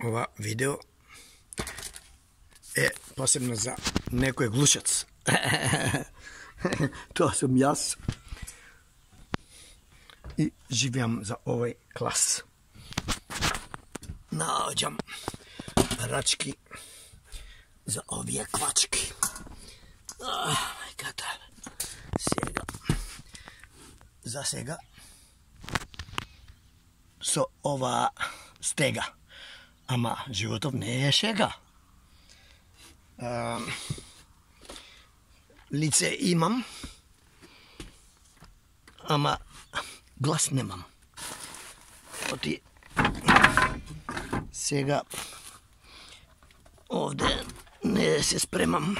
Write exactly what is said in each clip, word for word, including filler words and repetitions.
ова видео е посебно за некој глушац. Тоа сум јас. И живеам за овој клас. Наоѓам рачки за овие квачки. Мајката. Сега. За сега. Со ова стега. Ама животов не е шега. А, лице имам, ама глас немам. Оти сега овде не се спремам.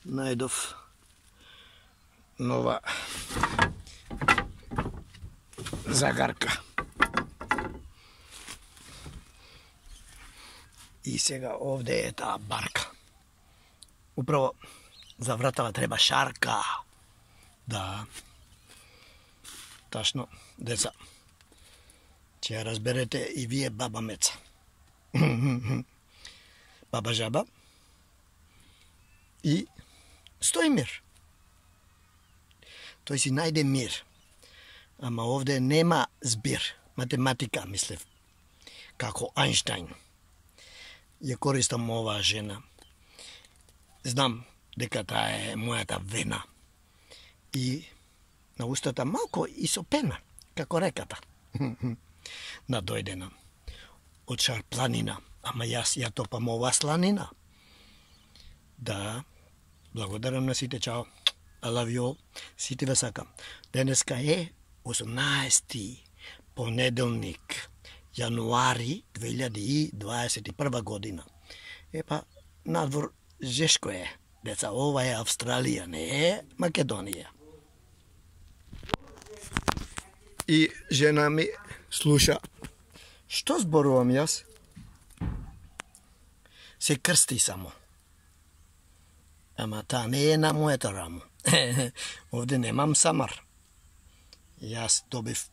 Најдов нова загарка. И сега овде е таа барка. Управо за вратава треба шарка. Да. Ташно, деца. Ќе ја разберете и вие баба Меца. Баба Жаба и Стоимир. Тој си најде мир. Ама овде нема збир. Математика, мислев. Како Ајнштајн. Ја користам оваа жена. Знам дека таа е мојата вена. И на устата малко и со пена, како реката. Надојдена од Шарпланина, ама јас ја топам оваа сланина. Да, благодарам на сите, чао. I love you all. Сите ве сакам. Денеска е осумнаесети понеделник, јануари две илјади дваесет и прва година. Епа, надвор жешко е. Деца, ова е Австралија, не е Македонија. И жена ми слуша. Што зборувам јас? Се крсти само. Ама таа не е на мојата рамо. Овде немам самар. Јас добив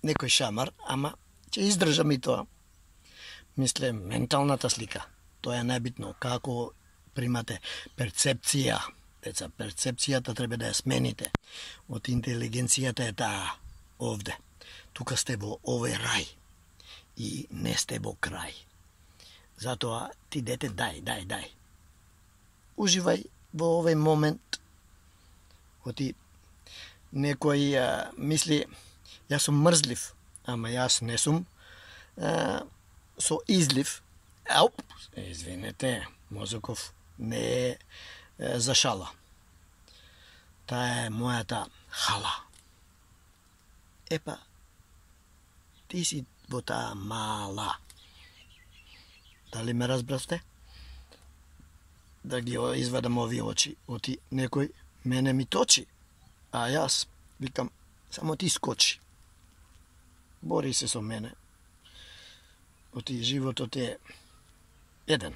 некој шамар, ама ќе издржам и тоа. Мисле, менталната слика. Тоа е најбитно. Како примате перцепција. Деца, перцепцијата треба да ја смените. Од интелигенцијата е таа овде. Тука сте во овој рај. И не сте во крај. Затоа ти дете дај, дај, дај. Уживај во овој момент. Оти некој а, мисли, јас сум мрзлив, ама јас не сум а, со излив. Ауп, извинете, мозоков не е, е за шала. Таа е мојата хала. Епа, ти си во таа мала. Дали ме разбравте? Да ги извадам овие очи, оти некој мене ми точи, а јас викам, само ти скочи. Бори се со мене. Оти животот е еден.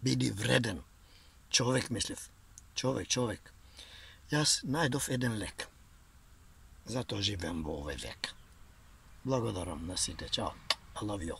Биди вреден. Човек, мислев. Човек, човек. Јас најдов еден лек. Затоа живеам во овој век. Благодарам на сите. Чао. I love you.